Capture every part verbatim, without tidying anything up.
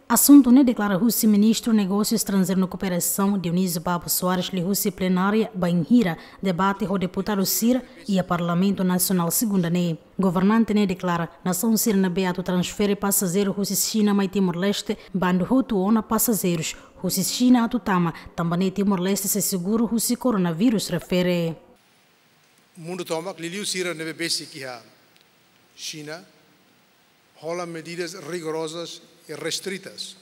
Asuntu ne'e deklara husi Ministru Negósiu Estranjeiru no Kooperasaun, Dionísio Babo Soares, liuhusi plenária bainhira debate ho deputadu sira iha Parlamentu Nasionál segunda ne'e. Governante ne'e deklara nasaun sira ne'ebé atu transfere pasajeiru husi Xina mai Timor-Leste bandu hotu ona pasajeirus husi Xina atu tama, tanba ne'e Timor-Leste sei seguru husi koronavírus refere. Mundu tomak, liuliu sira ne'ebé besik iha Xina, hola medidas rigorozas i restritas.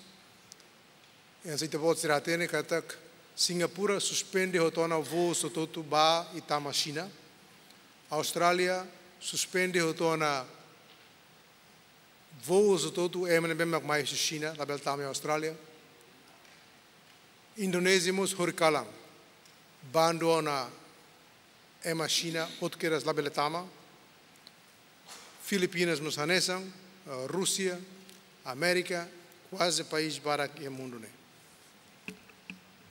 Hanesan ita-boot sira hatene katak Singapura suspende hotu ona voo hotu-hotu ba i tama Xina. Austrália suspende hotu ona voo hotu-hotu ema ne'ebé mak mai husi Xina, labele tama iha Austrália. Indonézia mós horikalan bandu ona ema Xina hotu kedas labele tama. Filipinas mós hanesan, eh, Rúsia, Amérika, kuaze país barak iha mundu ne'e.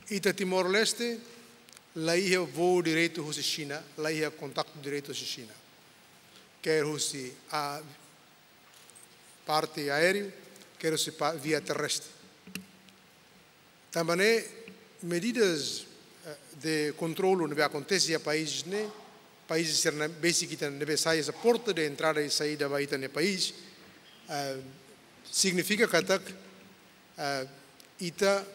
Ita Timor-Leste, la iha voo diretu husi Xina, la iha kontaktu diretu husi Xina. Ker husi a parte aéreu, ker husi pa-, via terrestre. Tanba ne'e medidas, eh, de kontrolu ne'ebé akontese iha país ne'e, país sira ne'ebé besik ita ne'ebé sai hanesan porta de entrada i saída ba ita-nia país, eh, signifika katak, eh, ita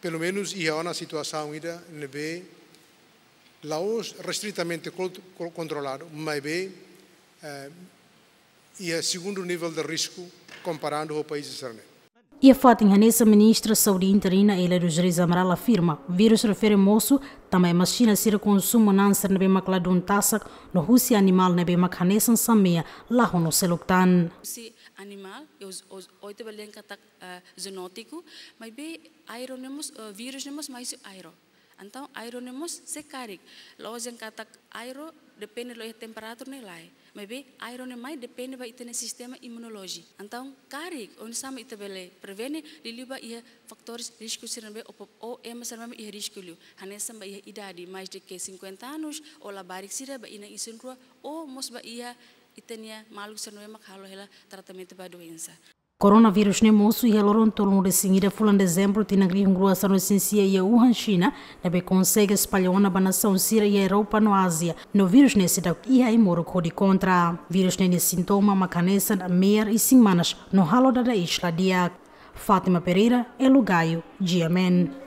pelumenus iha ona situasaun ida ne'ebé la'ós restritamente kont-, ko-, kontroladu, maibé, eh, iha segundu nivel de risku komparadu ho país sira ne'e. Iha fatin hanesan, Ministra Saúde interina Hélia dos Reis Amaral afirma vírus refere mosu tanba ema Xina sira konsumu na'an sira ne'ebé mak ladún tasak no husi animál ne'ebé mak hanesan samea, lahó no seluk tan. Husi animál, i os, os, oito balian katak, eh, zoonótiku, maibé aero ne'e mós, eh, vírus ne'e mós mai husi aero. Entaun aero ne'e mós sei karik. La'ós dehan katak aero depende la'ós iha temperatura ne'e lae. Maibé aero ne'e mai depende ba ita-nia sistema imunolójiku. Entaun karik, oinsá mak ita bele prevene, liuliu ba iha fatores risku sira ne'ebé o pop-, o ema sira ne'ebé iha risku liu. Hanesan ba iha idade mais do que cinquenta anos, o labarik sira ba inan isin-rua, o mós ba iha ita-nia maluk sira ne'ebé mak halo hela tratamentu ba doensa. Koronavírus ne'e mosu iha loron tolunulu-resin-ida fulan Dezembru tinan rihun rua sanulu-resin-sia iha Wuhan, Xina, ne'ebé konsege espalla ona ba nasaun sira iha Europa no Ázia. No vírus ne'e seidauk iha ai-moruk hodi kontra. Vírus ne'e nia sintoma mak hanesan me'ar isin-manas no halo dada iis la di'ak. Fátima Pereira, Elo Gaio, G M N.